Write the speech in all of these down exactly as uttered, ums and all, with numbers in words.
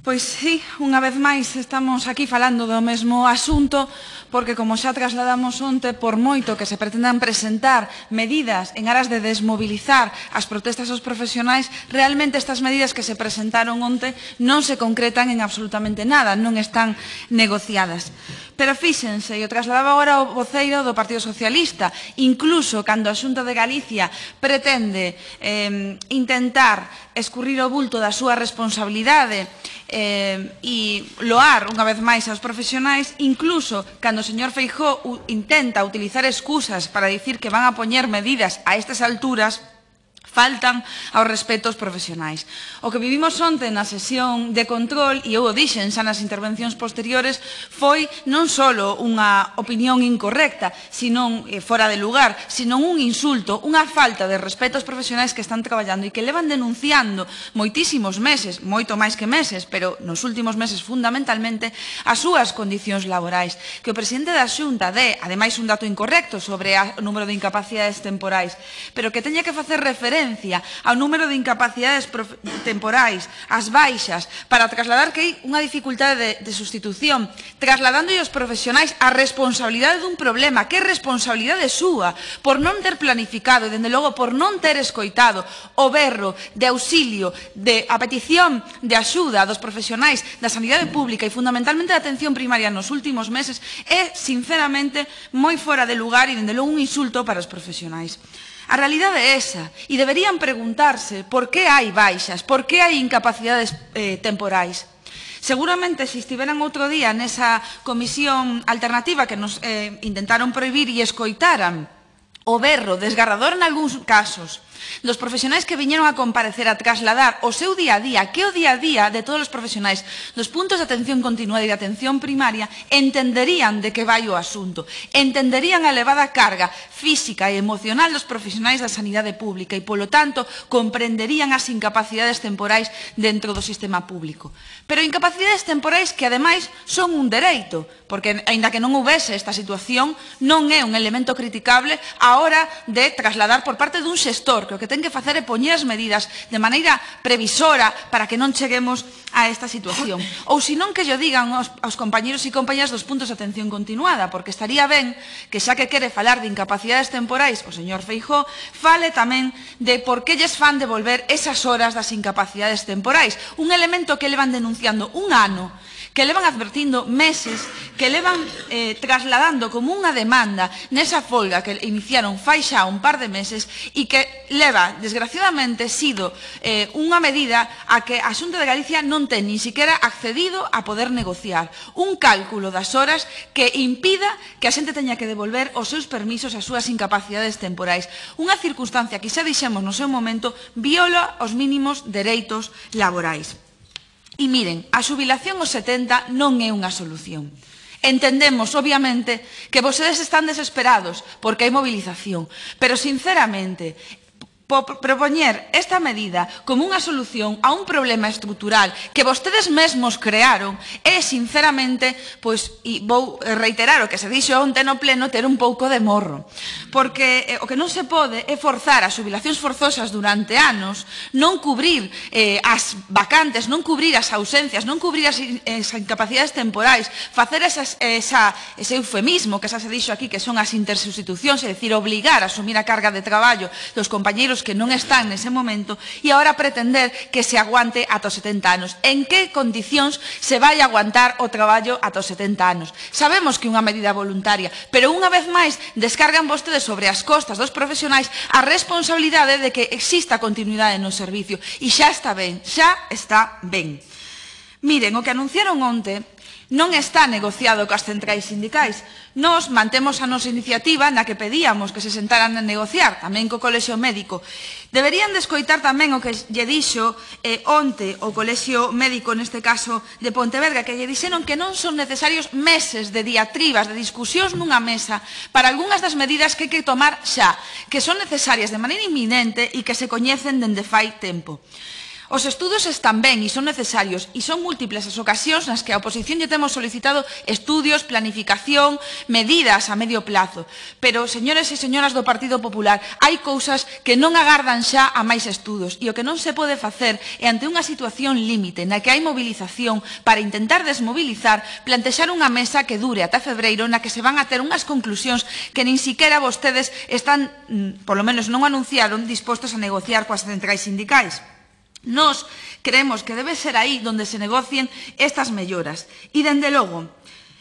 Pois sí, unha vez máis estamos aquí falando do mesmo asunto porque, como xa trasladamos onte, por moito que se pretendan presentar medidas en aras de desmobilizar as protestas dos profesionais, realmente estas medidas que se presentaron onte non se concretan en absolutamente nada, non están negociadas. Pero fíxense, e o trasladaba agora o voceiro do Partido Socialista, incluso cando a Xunta de Galicia pretende eh, intentar escurrir o bulto da súa responsabilidade eh, e loar unha vez máis aos profesionais, incluso cando o señor Feijóo intenta utilizar excusas para dicir que van a poñer medidas a estas alturas, faltan aos respetos profesionais. O que vivimos onte na sesión de control, e eu o dixen xa nas intervencións posteriores, foi non só unha opinión incorrecta, senón eh, fora de lugar, senón un insulto, unha falta de respeto aos profesionais que están traballando e que levan denunciando moitísimos meses, moito máis que meses, pero nos últimos meses fundamentalmente, as súas condicións laborais. Que o presidente da Xunta dé, ademais, un dato incorrecto sobre o número de incapacidades temporais, pero que teña que facer referencia ao número de incapacidades temporais, as baixas, para trasladar que hai unha dificultade de, de sustitución, trasladando aos profesionais a responsabilidade dun problema, que é responsabilidade súa, por non ter planificado e, dende logo, por non ter escoitado o berro de auxilio, de a petición de axuda dos profesionais da sanidade pública e, fundamentalmente, da atención primaria nos últimos meses, é, sinceramente, moi fora de lugar e, dende logo, un insulto para os profesionais. A realidade é esa, e deberían preguntarse por que hai baixas, por que hai incapacidades eh, temporais. Seguramente, se estiveran outro día nesa comisión alternativa que nos eh, intentaron prohibir e escoitaran o berro desgarrador en algúns casos dos profesionais que viñeron a comparecer a trasladar o seu día a día, que é o día a día de todos os profesionais dos puntos de atención continuada e de atención primaria, entenderían de que vai o asunto, entenderían a elevada carga física e emocional dos profesionais da sanidade pública e, polo tanto, comprenderían as incapacidades temporais dentro do sistema público. Pero incapacidades temporais que, ademais, son un dereito, porque, aínda que non houvese esta situación, non é un elemento criticable a hora de trasladar por parte dun xestor, que o que ten que facer é poñer as medidas de maneira previsora para que non cheguemos a esta situación. Ou senón que lle digan aos, aos compañeros e compañeras dos puntos de atención continuada, porque estaría ben que, xa que quere falar de incapacidades temporais, o señor Feijóo fale tamén de por que lles fan devolver esas horas das incapacidades temporais, un elemento que levan denunciando un ano, que levan advertindo meses, que levan eh, trasladando como unha demanda nesa folga que iniciaron fai xa un par de meses e que leva, desgraciadamente, sido eh, unha medida a que a Xunta de Galicia non ten nin siquiera accedido a poder negociar. Un cálculo das horas que impida que a xente teña que devolver os seus permisos, as súas incapacidades temporais. Unha circunstancia que xa dixemos no seu momento viola os mínimos dereitos laborais. E miren, a xubilación aos setenta non é unha solución. Entendemos, obviamente, que vostedes están desesperados porque hai movilización, pero, sinceramente, propoñer esta medida como unha solución a un problema estrutural que vostedes mesmos crearon é, sinceramente, pois, e vou reiterar o que se dixo onte no pleno, ter un pouco de morro. Porque eh, o que non se pode é forzar as xubilacións forzosas durante anos, non cubrir eh, as vacantes, non cubrir as ausencias, non cubrir as, as incapacidades temporais, facer esas, esa, ese eufemismo que xa se dixo aquí, que son as intersubstitucións, é dicir, obligar a asumir a carga de traballo dos compañeiros que non están nese momento e agora pretender que se aguante ata os setenta anos. En que condicións se vai aguantar o traballo ata os setenta anos? Sabemos que é unha medida voluntaria, pero unha vez máis descargan vostedes sobre as costas dos profesionais a responsabilidade de que exista continuidade no servicio. E xa está ben, xa está ben. Miren, o que anunciaron onte non está negociado coas centrais sindicais. Nós mantemos a nosa iniciativa na que pedíamos que se sentaran a negociar, tamén co Colexio Médico. Deberían de escoitar tamén o que lle dixo eh, onte o Colexio Médico, neste caso de Pontevedra, que lle dixeron que non son necesarios meses de diatribas, de discusións nunha mesa para algunhas das medidas que hai que tomar xa, que son necesarias de maneira inminente e que se coñecen dende fai tempo. Os estudos están ben e son necesarios e son múltiples as ocasións nas que a oposición lle temos solicitado estudios, planificación, medidas a medio plazo. Pero, señores e señoras do Partido Popular, hai cousas que non agardan xa a máis estudos e o que non se pode facer é ante unha situación límite na que hai movilización para intentar desmobilizar, plantexar unha mesa que dure ata febreiro na que se van a ter unhas conclusións que nin siquiera vostedes están, polo menos non anunciaron, dispostos a negociar coas centrais sindicais. Nos creemos que debe ser aí onde se negocien estas melloras. E, dende logo,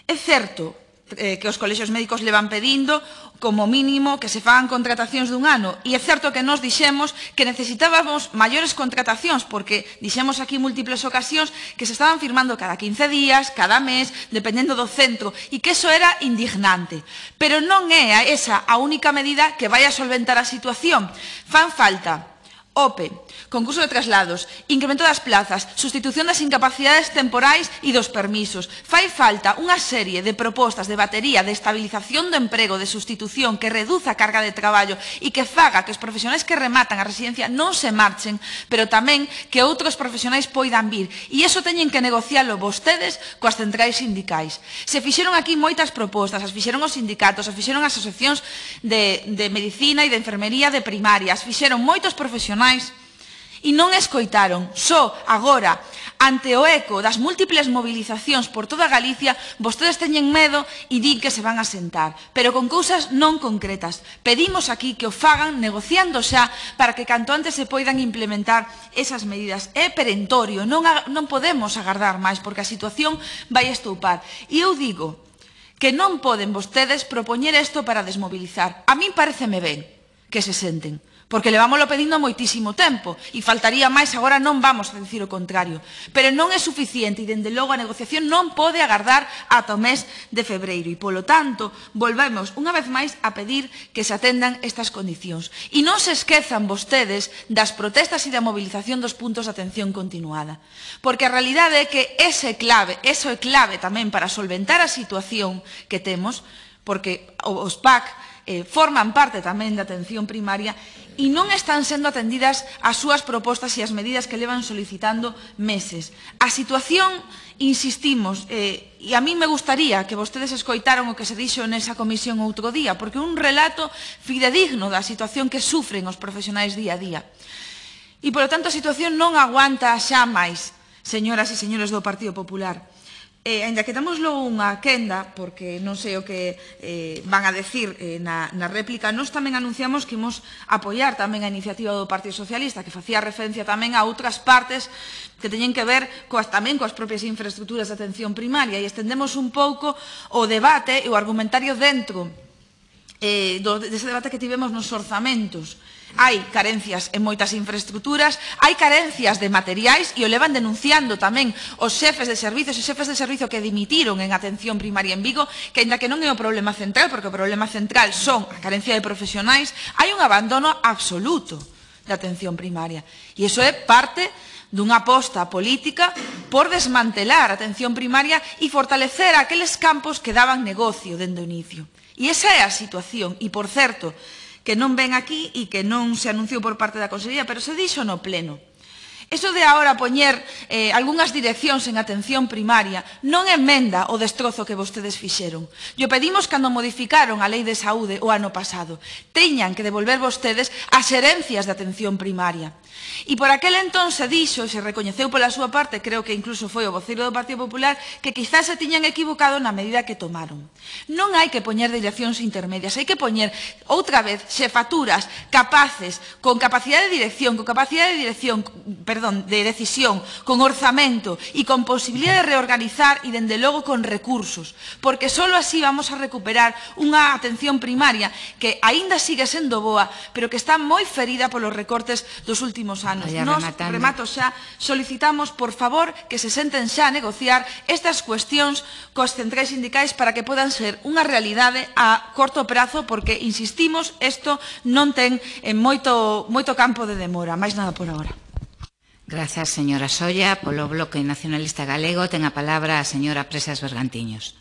é certo eh, que os colexios médicos levan pedindo como mínimo que se fagan contratacións dun ano e é certo que nos dixemos que necesitábamos maiores contratacións porque dixemos aquí múltiples ocasións que se estaban firmando cada quince días, cada mes, dependendo do centro e que eso era indignante. Pero non é esa a única medida que vai a solventar a situación. Fan falta O P E, concurso de traslados, incremento das plazas, sustitución das incapacidades temporais e dos permisos. Fai falta unha serie de propostas de batería de estabilización do emprego, de sustitución, que reduza a carga de traballo e que faga que os profesionais que rematan a residencia non se marchen, pero tamén que outros profesionais poidan vir. E iso teñen que negocialo vostedes coas centrais sindicais. Se fixeron aquí moitas propostas, as fixeron os sindicatos, as fixeron as asociacións de, de medicina e de enfermería de primaria, as fixeron moitos profesionais e non escoitaron. Só agora, ante o eco das múltiples movilizacións por toda Galicia, vostedes teñen medo e din que se van a sentar, pero con cousas non concretas. Pedimos aquí que o fagan negociando xa para que canto antes se poidan implementar esas medidas. É perentorio, non, non podemos agardar máis porque a situación vai estoupar. E eu digo que non poden vostedes propoñer isto para desmobilizar. A min pareceme ben que se senten, porque levámoslo pedindo moitísimo tempo e faltaría máis, agora non vamos a dicir o contrario. Pero non é suficiente e, dende logo, a negociación non pode agardar ata o mes de febreiro e, polo tanto, volvemos unha vez máis a pedir que se atendan estas condicións. E non se esquezan vostedes das protestas e da movilización dos puntos de atención continuada, porque a realidade é que ese clave, eso é clave tamén para solventar a situación que temos, porque os P A C eh, forman parte tamén da atención primaria e non están sendo atendidas as súas propostas e as medidas que levan solicitando meses. A situación, insistimos, eh, e a mí me gustaría que vostedes escoitaron o que se dixo nesa comisión outro día, porque é un relato fidedigno da situación que sufren os profesionais día a día. E, polo tanto, a situación non aguanta xa máis, señoras e señores do Partido Popular. Eh, ainda que damoslo unha quenda, porque non sei o que eh, van a decir eh, na, na réplica, nós tamén anunciamos que imos apoiar tamén a iniciativa do Partido Socialista, que facía referencia tamén a outras partes que teñen que ver coas, tamén coas propias infraestructuras de atención primaria, e estendemos un pouco o debate e o argumentario dentro eh, do, dese debate que tivemos nos orzamentos. Hai carencias en moitas infraestructuras, hai carencias de materiais e o levan denunciando tamén os xefes de servicios e xefes de servicio que dimitiron en atención primaria en Vigo, que ainda que non é o problema central, porque o problema central son a carencia de profesionais, hai un abandono absoluto da atención primaria. E iso é parte dunha aposta política por desmantelar a atención primaria e fortalecer aqueles campos que daban negocio dende o inicio. E esa é a situación. E, por certo, que non ven aquí e que non se anunciou por parte da Consellería, pero se dixo no pleno. Eso de agora poñer eh, algunhas direccións en atención primaria non emenda o destrozo que vostedes fixeron. Yo pedimos cando modificaron a Lei de Saúde o ano pasado. Teñan que devolver vostedes as herencias de atención primaria. E por aquel entón se dixo, e se recoñeceu pola súa parte, creo que incluso foi o voceiro do Partido Popular, que quizás se tiñan equivocado na medida que tomaron. Non hai que poñer direccións intermedias, hai que poñer outra vez xefaturas capaces, con capacidade de dirección, con capacidade de dirección, perdón, de decisión, con orzamento e con posibilidade de reorganizar e, dende logo, con recursos, porque só así vamos a recuperar unha atención primaria que aínda sigue sendo boa, pero que está moi ferida polos recortes dos últimos anos. Nos, remato xa, solicitamos, por favor, que se senten xa a negociar estas cuestións coas centrais sindicais para que podan ser unha realidade a corto prazo, porque, insistimos, isto non ten moito, moito campo de demora. Máis nada por agora. Grazas, señora Solla. Polo Bloque Nacionalista Galego ten a palabra a señora Presas Bergantiños.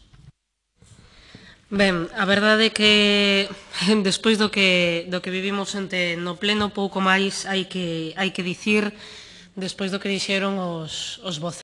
Ben, a verdade é que despois do que, do que vivimos ente no pleno, pouco máis hai que, hai que dicir despois do que dixeron os, os voces.